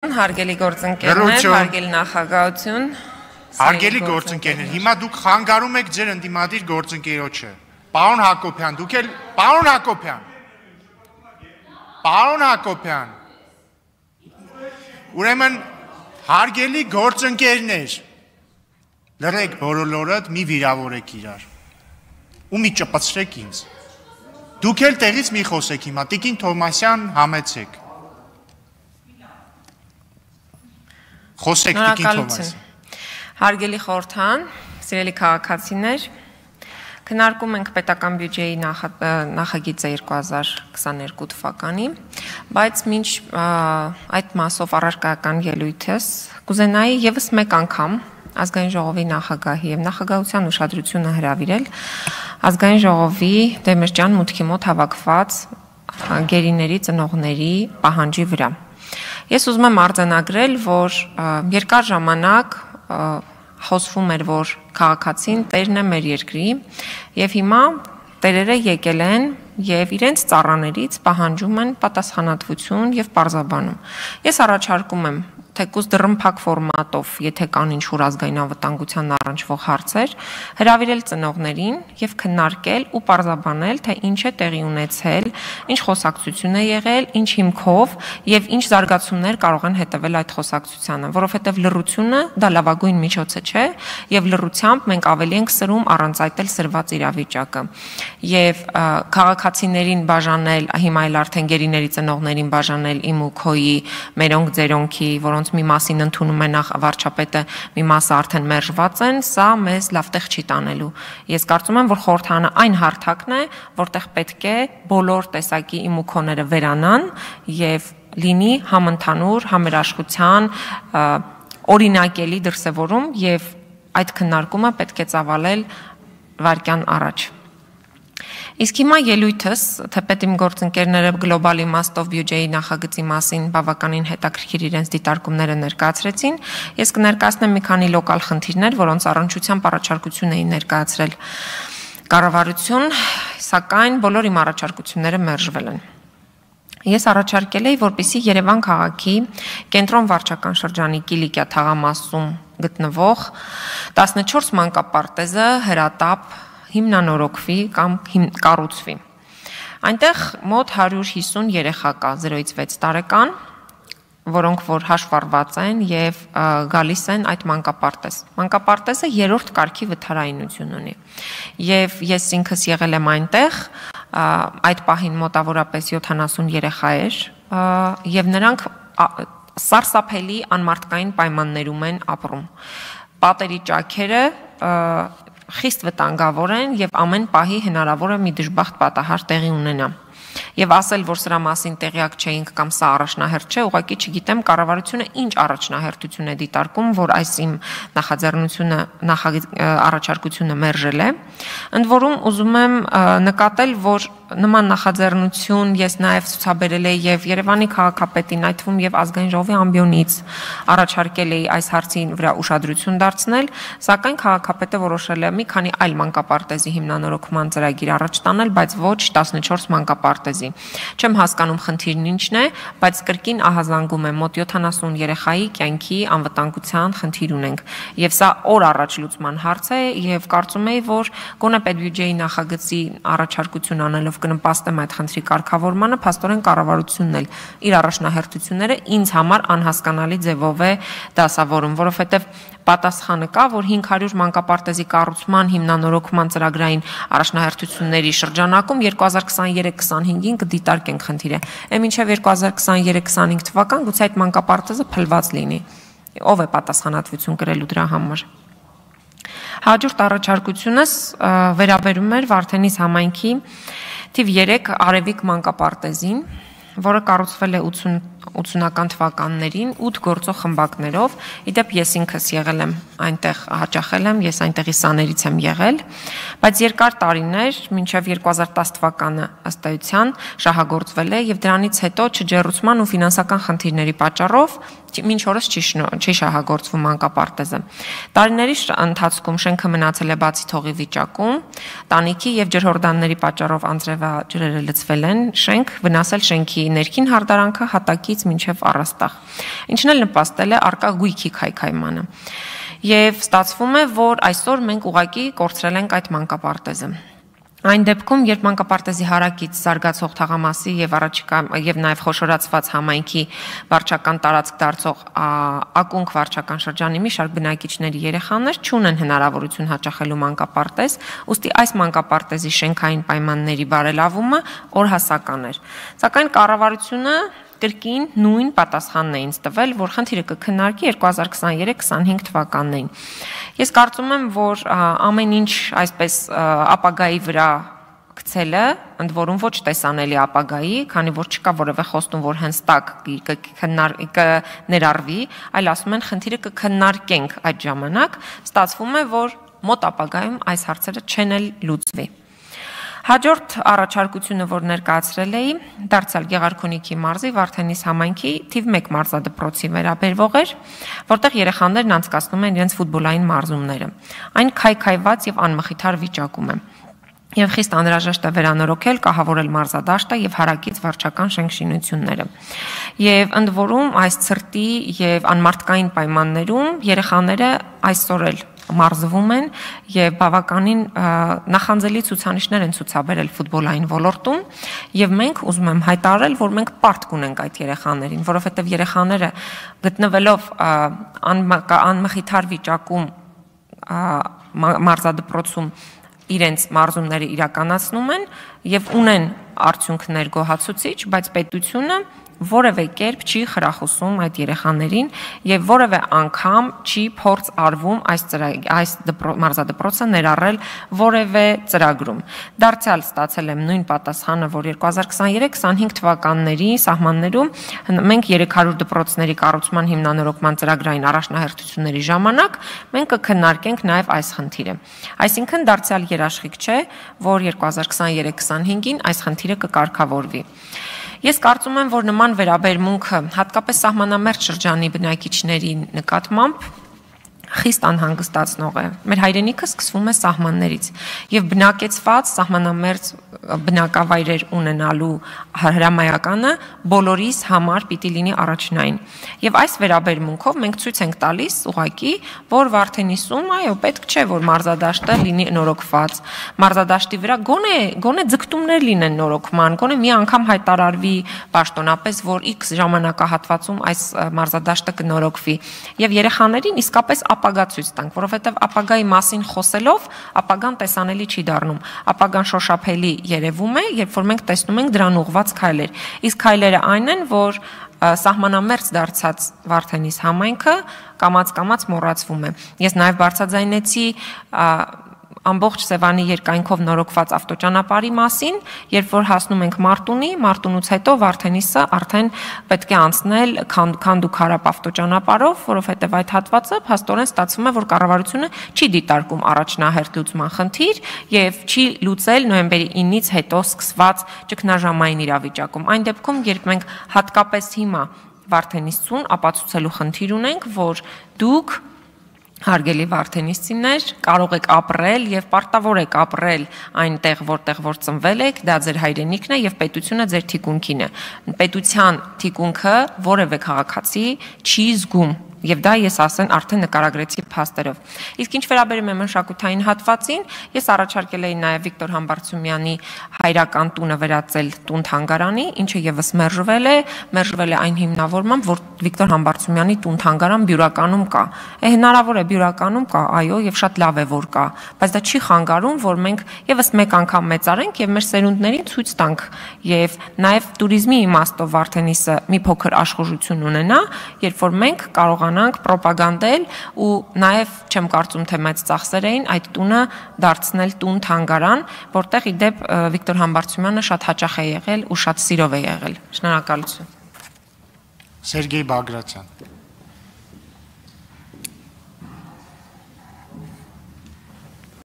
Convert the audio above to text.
Հարգելի գործընկերներ, հարգելի նախագահություն, հարգելի գործընկերներ, հիմա դուք խանգարում եք ձեր ընդդիմադիր գործընկերոջը։ Պարոն Հակոբյան, դուք էլ Պարոն Հակոբյան։ Ուրեմն հարգելի գործընկերներ, լռեք բոլորդ, մի վիրավորեք իրար։ Ու մի ճպցրեք ինձ։ Դուք էլ տեղից մի խոսեք հիմա, Տիկին Թովմասյան, համեցեք։ Խոսեք Տիկին Թովմասյան։ Հարգելի խորհրդան, սիրելի քաղաքացիներ, քննարկում ենք պետական բյուջեի նախագիծը 2022 թվականի, բայց մինչ այդ մասով առարկայական ելույթս կուզենայի եւս մեկ անգամ ազգային ժողովի նախագահի եւ նախագահության ուշադրությունը հրավիրել ազգային ժողովի Դեմիրճյան մուտքի մոտ հավաքված գերիների ծնողների պահանջի վրա։ Ես ուզում եմ արձանագրել, որ երկար ժամանակ խոսվում էր, որ քաղաքացին տերն է մեր երկրի եւ հիմա տերերը եկել են եւ իրենց ծառաներից պահանջում են պատասխանատվություն եւ պարզաբանում։ Ես առաջարկում եմ թեկուզ դռնփակ ֆորմատով, եթե կան ինչ-որ ազգային անվտանգության առնչվող հարցեր, հրավիրել ծնողներին եւ քննարկել ու պարզաբանել, թե ինչ է տեղի ունեցել, ինչ խոսակցություն է եղել, ինչ հիմքով եւ ինչ զարգացումներ կարող են հետեւել այդ խոսակցությանը, որովհետեւ լռությունը դա լավագույն միջոցը չէ եւ լռությամբ մենք ավելի ենք սրում առանց այդ էլ սրված իրավիճակը։ Եվ քաղաքացիներին բաժանել, հիմա էլ արդեն գերիների ծնողներին բաժանել իմ ու քոյի, մերոնք ձերոնքի, որոնց մի մասին ընդունում է նախ վարչապետը, մի մասը արդեն մերժված են, սա մեզ լավ տեղ չի տանելու։ Ես կարծում եմ, որ խորհրդանը այն հարթակն է, որտեղ պետք է բոլոր տեսակի իմ ու քոները վերանան եւ լինի համընդհանուր համերաշխության օրինակելի դրսևորում եւ այդ քննարկումը պետք է ծավալել վայրկյան առաջ։ Իսկ հիմա ելույթս, թեպետ իմ գործընկերները գլոբալ իմաստով բյուջեի նախագծի մասին բավականին հետաքրքիր իրենց դիտարկումները ներկայացրեցին, ես կներկայացնեմ մի քանի լոկալ խնդիրներ, որոնց առնչությամբ առաջարկություն էին ներկայացրել կառավարություն, սակայն բոլոր իմ առաջարկությունները մերժվել են։ Ես առաջարկել էի, որպեսզի Երևան քաղաքի կենտրոն վարչական շրջանի Կիլիկիա թաղամասում գտնվող 14 մանկապարտեզը հրատապ հիմնանորոգվի կամ կառուցվի։ Այնտեղ մոտ 150 երեխա կա 0-ից 6 տարեկան, որոնք որ հաշվառված են եւ գալիս են այդ մանկապարտեզ։ Մանկապարտեզը 3-րդ կարգի վթարայնություն ունի։ Եվ ես ինքս եղել եմ այնտեղ, այդ պահին մոտավորապես 70 երեխա էր, եւ նրանք սարսափելի անմարդկային պայմաններում են ապրում։ Պատերի ճաքերը խիստ վտանգավոր են եւ ամեն պահի հնարավոր է մի դժբախտ պատահար տեղի ունենա։ Եվ ասել, որ սրա մասին տեղյակ չէինք կամ սա առաջնահերթ չէ, ուղղակի չգիտեմ կառավարությունը ինչ առաջնահերթություն է դիտարկում, որ այս իմ առաջարկությունը մերժել է։ Ընդ որում ուզում եմ նկատել, որ նման նախաձեռնություն ես նաև ցուցաբերել եմ եւ Երևանի քաղաքապետին, այդ թվում եւ ազգային ժողովի ամբիոնից առաջարկել էի այս հարցին վրա ուշադրություն դարձնել, սակայն քաղաքապետը որոշել է մի քանի այլ մանկապարտեզի հիմնանորոգման ծրագիր առաջ տանել, բայց ոչ 14 մանկապարտեզի։ Չեմ հասկանում խնդիրն ինչն է, բայց կրկին ահազանգում եմ մոտ 70 երեխայի կյանքի անվտանգության խնդիր ունենք եւ սա օր առաջ լուծման հարց է եւ կարծում եի, որ գոնե պետբյուջեի նախագծի առաջարկություն անելով կնպաստեմ այդ խնդրի կարգավորմանը, փաստորեն կառավարությունն էլ իր առաջնահերթությունները ինձ համար անհասկանալի ձևով է դասավորում, որովհետև պատասխանը կա, որ 500 մանկապարտեզի կառուցման հիմնանորոգման ծրագրային առաջնահերթությունների շրջանակում 2023-25-ին կդիտարկենք խնդիրը։ Մինչև 2023-25 թվական գուցե այդ մանկապարտեզը փլված լինի։ Ով է պատասխանատվություն կրելու դրա համար։ Հաջորդ առաջարկությունս վերաբերում էր Վարդենիս համայնքի թիվ 3 Արևիկ մանկապարտեզին, որը կառուցվել է 80-ական թվականներին 8 գործող խմբակներով։ Իդեպ ես ինքս եղել եմ այնտեղ, հաճախել եմ, ես այնտեղի սաներից եմ եղել, բայց երկար տարիներ, մինչև 2010 թվականը ըստ էության շահագործվել է եւ դրանից հետո չջեռուցման ու ֆինանսական խնդիրների պատճառով մինչ օրս չի շահագործվում մանկապարտեզը։ Տարիների ընթացքում շենքը մնացել է բացի թողի վիճակում, տանիքի եւ ջրհորդանների պատճառով անձրևաջրերը լցվել են շենք, վնասել շենքի ներքին հարդարանքը հատակից մինչև առաստաղ, ինչն էլ նպաստել է առկա գույքի քայքայմանը։ Եվ ստացվում է, որ այսօր մենք ուղղակի կորցրել ենք այդ մանկապարտեզը։ Այն դեպքում, երբ մանկապարտեզի հարակից զարգացող թաղամասի եւ նաեւ խոշորացված համայնքի վարչական տարածք դարձող ակունք վարչական շրջանի մի շարք բնակիչների երեխաներ չունեն հնարավորություն հաճախելու մանկապարտեզ, ուստի այս մանկապարտեզի շենքային պայմանների բարելավումը օրհասական էր։ Սակայն կառավարությունը կրկին նույն պատասխանն է ինձ տվել, որ խնդիրը կքննարկի 2023-25 թվականներին։ Ես կարծում եմ, որ ամեն ինչ այսպես ապագայի վրա գցելը, ընդ որում ոչ տեսանելի ապագայի, քանի որ չկա որևէ խոստում, որ հենց տակ կներառվի, այլ ասում են խնդիրը կքննարկենք այդ ժամանակ, ստացվում է, որ մոտ ապագայում այս հարցերը չեն էլ լուծվի։ Հաջորդ առաջարկությունը, որ ներկայացրել էի, դարձյալ Գեղարքունիքի մարզի Վարդենիս համայնքի թիվ 1 մարզադպրոցի վերաբերվող էր, որտեղ երեխաներն անցկացնում են իրենց ֆուտբոլային մարզումները։ Այն քայքայված եւ անմխիթար վիճակում է։ Եվ խիստ անհրաժեշտ է վերանորոգել, կահավորել մարզադաշտը եւ հարակից վարչական շենքշինությունները։ Եվ ընդ որում այս ցրտի եւ անմարդկային պայմաններում երեխաները այսօր էլ մարզվում են եւ բավականին նախանձելի ցուցանիշներ են ցուցաբերել ֆուտբոլային ոլորտում եւ մենք ուզում եմ հայտարարել, որ մենք պարտք ունենք այդ երեխաներին, որովհետեւ երեխաները գտնվելով անմխիթար վիճակում մարզադպրոցում իրենց մարզումները իրականացնում են եւ ունեն արդյունքներ գոհացուցիչ, բայց պետությունը որևէ կերպ չի խրախուսում այդ երեխաներին եւ որևէ անգամ չի փորձ արվում այս մարզադպրոցը ներառել որևէ ծրագրում։ Դարձյալ ստացել եմ նույն պատասխանը, որ 2023-25 թվականների սահմաններում մենք 300 դպրոցների կառուցման հիմնանորոգման ծրագրային առաջնահերթությունների ժամանակ մենք կքննարկենք նաեւ այս խնդիրը։ Այսինքն դարձյալ երաշխիք չէ, որ 2023-25-ին այս խնդիրը կկարգավորվի։ Ես կարծում եմ, որ նման վերաբերմունքը հատկապես սահմանամերձ շրջանի բնակիչների նկատմամբ խիստ անհանգստացնող է։ Մեր հայրենիքը սկսվում է սահմաններից եւ բնակեցված սահմանամերձ բնակավայրեր ունենալու հրամայականը բոլորիս համար պիտի լինի առաջնային։ Եւ այս վերաբերմունքով մենք ցույց ենք տալիս ուղղակի, որ Վարդենիսում, այո, պետք չէ, որ մարզադաշտը լինի նորոգված։ Մարզադաշտի վրա գոնե ձգտումներ լինեն նորոգման, գոնե մի անգամ հայտարարվի պաշտոնապես, որ X ժամանակահատվածում այս մարզադաշտը կնորոգվի եւ երեխաներին իսկապես ապագա ցույց տանք, որովհետև ապագայի մասին խոսելով ապագան տեսանելի չի դառնում։ Ապագան շոշափելի երևում է, երբ որ մենք տեսնում ենք դրան ուղղված քայլեր։ Իսկ քայլերը այն են, որ սահմանամերձ դարձած Վարդենիս համայնքը կամաց-կամաց մոռացվում է։ Ես նաև բարձրաձայնեցի ամբողջ Սևանի երկայնքով նորոգված ավտոճանապարհի մասին, երբ որ հասնում ենք Մարտունից հետո Վարդենիսը արդեն պետք է անցնել Քանդուքարապ ավտոճանապարհով, որովհետև այդ հատվածը փաստորեն ստացվում է, որ կառավարությունը չի դիտարկում առաջնահերթ լուծման խնդիր եւ չի լուծել նոյեմբերի 9-ից հետո սկսված ճգնաժամային իրավիճակում։ Այն դեպքում, երբ մենք հատկապես հիմա Վարդենիսցուն ապացուցելու խնդիր ունենք, որ դուք հարգելի վարդենիսցիներ, կարող եք ապրել եւ պարտավոր եք ապրել այնտեղ, որտեղ որ ծնվել եք, դա ձեր հայրենիքն է եւ պետությունը ձեր թիկունքին է։ Պետության թիկունքը որևէ քաղաքացի չի զգում Եվ դա ես ասեն արդեն նկարագրեցի փաստերով։ Իսկ ինչ վերաբերում է մշակութային հատվածին, ես առաջարկել էի նաև Վիկտոր Համբարձումյանի հայրական տունը վերածել տուն-թանգարանի, ինչը եւս մերժվել է այն հիմնավորմամբ, որ Վիկտոր Համբարձումյանի տուն-թանգարան Բյուրականում կա։ Հնարավոր է Բյուրականում կա, այո, եւ շատ լավ է որ կա, բայց դա չի խանգարում, որ մենք եւս մեկ անգամ մեծարենք եւ մեր սերունդներին ցույց տանք եւ նաև туриզմի իմաստով Վարդենիսը մի փոքր աշխուժություն ունենա, երբ որ մենք կարողանանք պրոպագանդել ու նաև չեմ կարծում թե մեծ ծախսեր էին այդ տունը դարձնել տուն-թանգարան, որտեղ ի դեպ Վիկտոր Համբարձումյանը շատ հաճախ է եղել ու շատ սիրով է եղել։ Շնորհակալություն։ Սերգեյ Բագրատյան